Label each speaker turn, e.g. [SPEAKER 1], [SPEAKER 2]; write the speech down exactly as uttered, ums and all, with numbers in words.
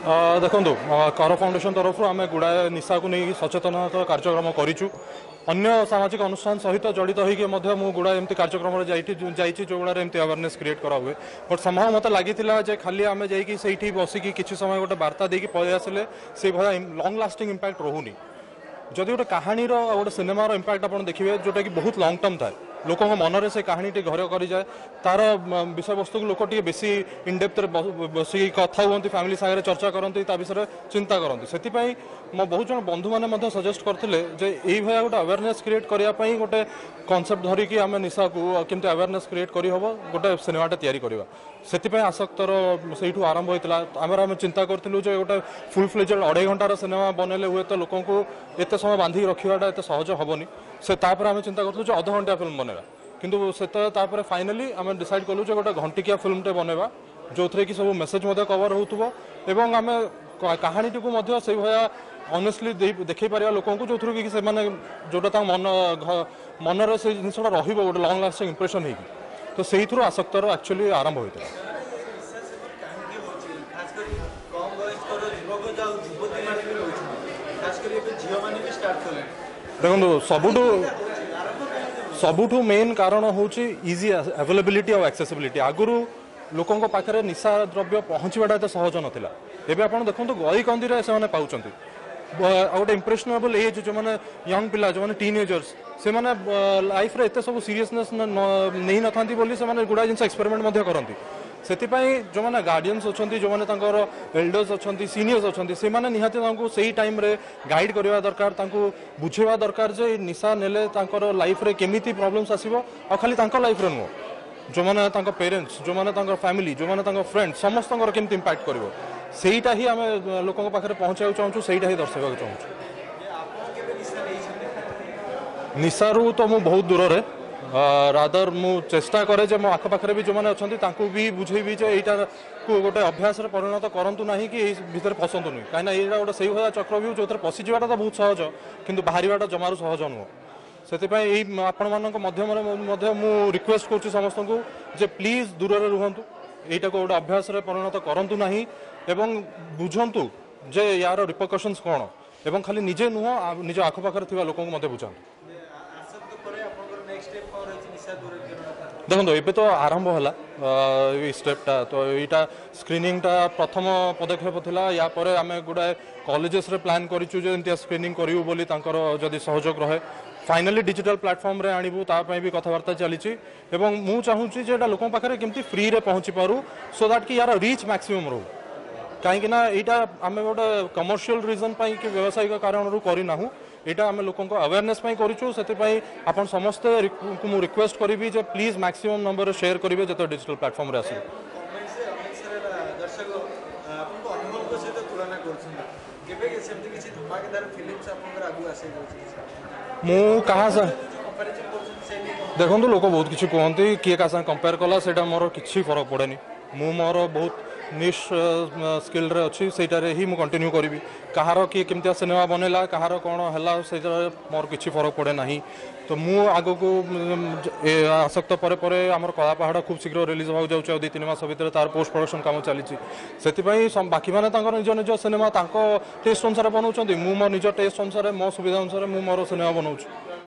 [SPEAKER 1] ଦେଖନ୍ତୁ କର ଫାଉଣ୍ଡେସନ ତରଫରୁ ଆମେ ଗୁଡ଼ାଏ ନିଶାକୁ ନେଇ ସଚେତନତା କାର୍ଯ୍ୟକ୍ରମ କରିଛୁ ଅନ୍ୟ ସାମାଜିକ ଅନୁଷ୍ଠାନ ସହିତ ଜଡ଼ିତ ହୋଇକି ମଧ୍ୟ ମୁଁ ଗୁଡ଼ାଏ ଏମିତି କାର୍ଯ୍ୟକ୍ରମରେ ଯାଇଠି ଯାଇଛି ଯେଉଁଗୁଡ଼ାରେ ଏମିତି ଆୱାରନେସ୍ କ୍ରିଏଟ୍ କରାହୁଏ ବଟ୍ ସମହାଉ ମୋତେ ଲାଗିଥିଲା ଯେ ଖାଲି ଆମେ ଯାଇକି ସେଇଠି ବସିକି କିଛି ସମୟ ଗୋଟେ ବାର୍ତ୍ତା ଦେଇକି ପଳେଇ ଆସିଲେ ସେଇଭଳିଆ ଲଙ୍ଗ୍ ଲାଷ୍ଟିଂ ଇମ୍ପାକ୍ଟ ରହୁନି ଯଦି ଗୋଟେ କାହାଣୀର ଆଉ ଗୋଟେ ସିନେମାର ଇମ୍ପାକ୍ଟ ଆପଣ ଦେଖିବେ ଯେଉଁଟାକି ବହୁତ ଲଙ୍ଗ୍ ଟର୍ମ ଥାଏ ଲୋକଙ୍କ ମନରେ ସେ କାହାଣୀଟି ଘର କରିଯାଏ ତାର ବିଷୟବସ୍ତୁକୁ ଲୋକ ଟିକେ ବେଶୀ ଇନଡେପ୍ଥରେ ବସିକି କଥା ହୁଅନ୍ତି ଫ୍ୟାମିଲି ସାଙ୍ଗରେ ଚର୍ଚ୍ଚା କରନ୍ତି ତା ବିଷୟରେ ଚିନ୍ତା କରନ୍ତି ସେଥିପାଇଁ ମୋ ବହୁତ ଜଣ ବନ୍ଧୁମାନେ ମଧ୍ୟ ସଜେଷ୍ଟ କରିଥିଲେ ଯେ ଏଇଭଳିଆ ଗୋଟେ ଆୱାରନେସ୍ କ୍ରିଏଟ୍ କରିବା ପାଇଁ ଗୋଟେ କନସେପ୍ଟ ଧରିକି ଆମେ ନିଶାକୁ କେମିତି ଆୱାରନେସ୍ କ୍ରିଏଟ୍ କରିହେବ ଗୋଟେ ସିନେମାଟା ତିଆରି କରିବା ସେଥିପାଇଁ ଆସକ୍ତର ସେଇଠୁ ଆରମ୍ଭ ହୋଇଥିଲା ଆମର ଆମେ ଚିନ୍ତା କରିଥିଲୁ ଯେ ଗୋଟେ ଫୁଲ୍ ଫ୍ଲେଜେଡ୍ ଅଢ଼େଇ ଘଣ୍ଟାର ସିନେମା ବନେଇଲେ ହୁଏତ ଲୋକଙ୍କୁ ଏତେ ସମୟ ବାନ୍ଧିକି ରଖିବାଟା ଏତେ ସହଜ ହେବନି ସେ ତାପରେ ଆମେ ଚିନ୍ତା କରିଥିଲୁ ଯେ ଅଧଘଣ୍ଟିଆ ଫିଲ୍ମ ବନେଇବା କିନ୍ତୁ ସେତେବେଳେ ତାପରେ ଫାଇନାଲି ଆମେ ଡିସାଇଡ୍ କଲୁ ଯେ ଗୋଟେ ଘଣ୍ଟିକିଆ ଫିଲ୍ମଟେ ବନେଇବା ଯେଉଁଥିରେ କି ସବୁ ମେସେଜ୍ ମଧ୍ୟ କଭର ହେଉଥିବ ଏବଂ ଆମେ କାହାଣୀଟିକୁ ମଧ୍ୟ ସେଇଭଳିଆ ଅନେଷ୍ଟଲି ଦେଖେଇ ପାରିବା ଲୋକଙ୍କୁ ଯେଉଁଥିରୁ କି ସେମାନେ ଯେଉଁଟା ତାଙ୍କ ମନ ମନରେ ସେଇ ଜିନିଷଟା ରହିବ ଗୋଟେ ଲଙ୍ଗ୍ ଲାଷ୍ଟିଂ ଇମ୍ପ୍ରେସନ୍ ହେଇକି ତ ସେଇଥିରୁ ଆସକ୍ତର ଆକ୍ଚୁଆଲି ଆରମ୍ଭ ହୋଇଥିଲା
[SPEAKER 2] ନିଶା ସେବନ କାହିଁକି ହେଉଛି ଖାସ କରି କମ୍ ବୟସ୍କର ଯୁବକ ଆଉ ଯୁବତୀମାନେ ବି ରହୁଛନ୍ତି ଖାସ କରି ଏବେ ଝିଅମାନେ ବି ଷ୍ଟାର୍ଟ କଲେଣି
[SPEAKER 1] ଦେଖନ୍ତୁ ସବୁଠୁ
[SPEAKER 2] ଆରମ୍ଭ କାହିଁକି
[SPEAKER 1] ସବୁଠୁ ମେନ୍ କାରଣ ହେଉଛି ଇଜି ଆଭେଲେବିଲିଟି ଆଉ ଆକ୍ସେସିବିଲିଟି ଆଗରୁ ଲୋକଙ୍କ ପାଖରେ ନିଶା ଦ୍ରବ୍ୟ ପହଞ୍ଚିବାଟା ଏତେ ସହଜ ନଥିଲା ଏବେ ଆପଣ ଦେଖନ୍ତୁ ଗଳି କନ୍ଦିରେ ସେମାନେ ପାଉଛନ୍ତି ଆଉ ଗୋଟେ ଇମ୍ପ୍ରେସନେବଲ୍ ଏଜ୍ ଯେଉଁମାନେ ୟଙ୍ଗ ପିଲା ଯେଉଁମାନେ ଟିନ୍ ଏଜର୍ସ ସେମାନେ ଲାଇଫ୍ରେ ଏତେ ସବୁ ସିରିୟସନେସ୍ ନେଇନଥାନ୍ତି ବୋଲି ସେମାନେ ଗୁଡ଼ାଏ ଜିନିଷ ଏକ୍ସପେରିମେଣ୍ଟ ମଧ୍ୟ କରନ୍ତି ସେଥିପାଇଁ ଯେଉଁମାନେ ଗାର୍ଡ଼ିଆନ୍ସ ଅଛନ୍ତି ଯେଉଁମାନେ ତାଙ୍କର ଏଲ୍ଡର୍ସ ଅଛନ୍ତି ସିନିୟର୍ସ ଅଛନ୍ତି ସେମାନେ ନିହାତି ତାଙ୍କୁ ସେଇ ଟାଇମ୍ରେ ଗାଇଡ଼ କରିବା ଦରକାର ତାଙ୍କୁ ବୁଝେଇବା ଦରକାର ଯେ ନିଶା ନେଲେ ତାଙ୍କର ଲାଇଫ୍ରେ କେମିତି ପ୍ରୋବ୍ଲେମ୍ସ ଆସିବ ଆଉ ଖାଲି ତାଙ୍କ ଲାଇଫ୍ରେ ନୁହଁ ଯେଉଁମାନେ ତାଙ୍କ ପେରେଣ୍ଟସ୍ ଯେଉଁମାନେ ତାଙ୍କ ଫ୍ୟାମିଲି ଯେଉଁମାନେ ତାଙ୍କ ଫ୍ରେଣ୍ଡ ସମସ୍ତଙ୍କର କେମିତି ଇମ୍ପାକ୍ଟ କରିବ ସେଇଟା ହିଁ ଆମେ ଲୋକଙ୍କ ପାଖରେ ପହଞ୍ଚାଇବାକୁ ଚାହୁଁଛୁ ସେଇଟା ହିଁ ଦର୍ଶାଇବାକୁ ଚାହୁଁଛୁ
[SPEAKER 2] ଆପଣ କେବେ ନିଶା ନେଇଛନ୍ତି
[SPEAKER 1] ନିଶାରୁ ତ ମୁଁ ବହୁତ ଦୂରରେ ରାଦର ମୁଁ ଚେଷ୍ଟା କରେ ଯେ ମୋ ଆଖପାଖରେ ବି ଯେଉଁମାନେ ଅଛନ୍ତି ତାଙ୍କୁ ବି ବୁଝେଇବି ଯେ ଏଇଟାକୁ ଗୋଟେ ଅଭ୍ୟାସରେ ପରିଣତ କରନ୍ତୁ ନାହିଁ କି ଏଇ ଭିତରେ ପଶନ୍ତୁନି କାହିଁକିନା ଏଇଟା ଗୋଟେ ସେଇଭଳିଆ ଚକ୍ରବ୍ୟୁହ ଯେଉଁଥିରେ ପଶିଯିବାଟା ତ ବହୁତ ସହଜ କିନ୍ତୁ ବାହାରିବାଟା ଜମାରୁ ସହଜ ନୁହଁ ସେଥିପାଇଁ ଏଇ ଆପଣମାନଙ୍କ ମାଧ୍ୟମରେ ମଧ୍ୟ ମୁଁ ରିକ୍ୱେଷ୍ଟ କରୁଛି ସମସ୍ତଙ୍କୁ ଯେ ପ୍ଲିଜ୍ ଦୂରରେ ରୁହନ୍ତୁ ଏଇଟାକୁ ଗୋଟେ ଅଭ୍ୟାସରେ ପରିଣତ କରନ୍ତୁ ନାହିଁ ଏବଂ ବୁଝନ୍ତୁ ଯେ ୟାର ରିପରକସନ୍ସ କ'ଣ ଏବଂ ଖାଲି ନିଜେ ନୁହଁ ନିଜ ଆଖପାଖରେ ଥିବା ଲୋକଙ୍କୁ ମଧ୍ୟ ବୁଝାନ୍ତୁ
[SPEAKER 2] ଆସକ୍ତ ପରେ ଆପଣଙ୍କର ନେକ୍ସଟ ଷ୍ଟେପ୍ କ'ଣ ରହିଛି ନିଶା ଦୂରୀକରଣ
[SPEAKER 1] ଦେଖନ୍ତୁ ଏବେ ତ ଆରମ୍ଭ ହେଲା ଏଇ ଷ୍ଟେପ୍ଟା ତ ଏଇଟା ସ୍କ୍ରିନିଂଟା ପ୍ରଥମ ପଦକ୍ଷେପ ଥିଲା ୟା ପରେ ଆମେ ଗୁଡ଼ାଏ କଲେଜେସରେ ପ୍ଲାନ୍ କରିଛୁ ଯେ ଏମିତିଆ ସ୍କ୍ରିନିଂ କରିବୁ ବୋଲି ତାଙ୍କର ଯଦି ସହଯୋଗ ରହେ ଫାଇନାଲି ଡିଜିଟାଲ ପ୍ଲାଟଫର୍ମରେ ଆଣିବୁ ତା ପାଇଁ ବି କଥାବାର୍ତ୍ତା ଚାଲିଛି ଏବଂ ମୁଁ ଚାହୁଁଛି ଯେ ଏଇଟା ଲୋକଙ୍କ ପାଖରେ କେମିତି ଫ୍ରିରେ ପହଞ୍ଚି ପାରୁ ସୋ that କି ୟାର ରିଚ୍ ମ୍ୟାକ୍ସିମମ୍ ରହୁ କାହିଁକି ନା ଏଇଟା ଆମେ ଗୋଟେ କମର୍ସିଆଲ ରିଜନ୍ ପାଇଁ କି ବ୍ୟବସାୟିକ କାରଣରୁ କରିନାହୁଁ ଏଇଟା ଆମେ ଲୋକଙ୍କ ଆୱାରନେସ୍ ପାଇଁ କରିଛୁ ସେଥିପାଇଁ ଆପଣ ସମସ୍ତେ ମୁଁ ରିକ୍ୱେଷ୍ଟ କରିବି ଯେ ପ୍ଲିଜ୍ ମ୍ୟାକ୍ସିମମ୍ ନମ୍ବରରେ ସେୟାର କରିବେ ଯେତେବେଳେ ଡିଜିଟାଲ ପ୍ଲାଟଫର୍ମରେ ଆସିବ
[SPEAKER 2] କମେଣ୍ଟସରେ ଅନେକ ସାରା ଦର୍ଶକ ଆପଣଙ୍କୁ ଅନୁଭବଙ୍କ ସହିତ ତୁଳନା କରୁଛନ୍ତି କେବେ ସେମିତି କିଛି ଧମାକେଦାର ଫିଲ୍ମସ୍ ଆପଣଙ୍କର ଆଗକୁ ଆସିଯାଉଛି କିଛି
[SPEAKER 1] ମୁଁ କାହା ସା
[SPEAKER 2] କମ୍ପାରିଜନ୍ କରୁଛନ୍ତି ସେ ନେଇ କଣ
[SPEAKER 1] ଦେଖନ୍ତୁ ଲୋକ ବହୁତ କିଛି କୁହନ୍ତି କିଏ କାହା ସାଙ୍ଗେ କମ୍ପେୟାର କଲା ସେଇଟା ମୋର କିଛି ଫରକ ପଡ଼େନି ମୁଁ ମୋର ବହୁତ ନିଶ୍ ସ୍କିଲ୍ରେ ଅଛି ସେଇଟାରେ ହିଁ ମୁଁ କଣ୍ଟିନ୍ୟୁ କରିବି କାହାର କିଏ କେମିତିଆ ସିନେମା ବନେଇଲା କାହାର କ'ଣ ହେଲା ସେଇଟାରେ ମୋର କିଛି ଫରକ ପଡ଼େ ନାହିଁ ତ ମୁଁ ଆଗକୁ ଏ ଆସକ୍ତ ପରେ ପରେ ଆମର କଳା ପାହାଡ଼ ଖୁବ୍ ଶୀଘ୍ର ରିଲିଜ୍ ହେବାକୁ ଯାଉଛି ଆଉ ଦୁଇ ତିନି ମାସ ଭିତରେ ତାର ପୋଷ୍ଟ ପ୍ରଡକ୍ସନ୍ କାମ ଚାଲିଛି ସେଥିପାଇଁ ବାକିମାନେ ତାଙ୍କର ନିଜ ନିଜ ସିନେମା ତାଙ୍କ ଟେଷ୍ଟ ଅନୁସାରେ ବନାଉଛନ୍ତି ମୁଁ ମୋ ନିଜ ଟେଷ୍ଟ ଅନୁସାରେ ମୋ ସୁବିଧା ଅନୁସାରେ ମୁଁ ମୋର ସିନେମା ବନାଉଛି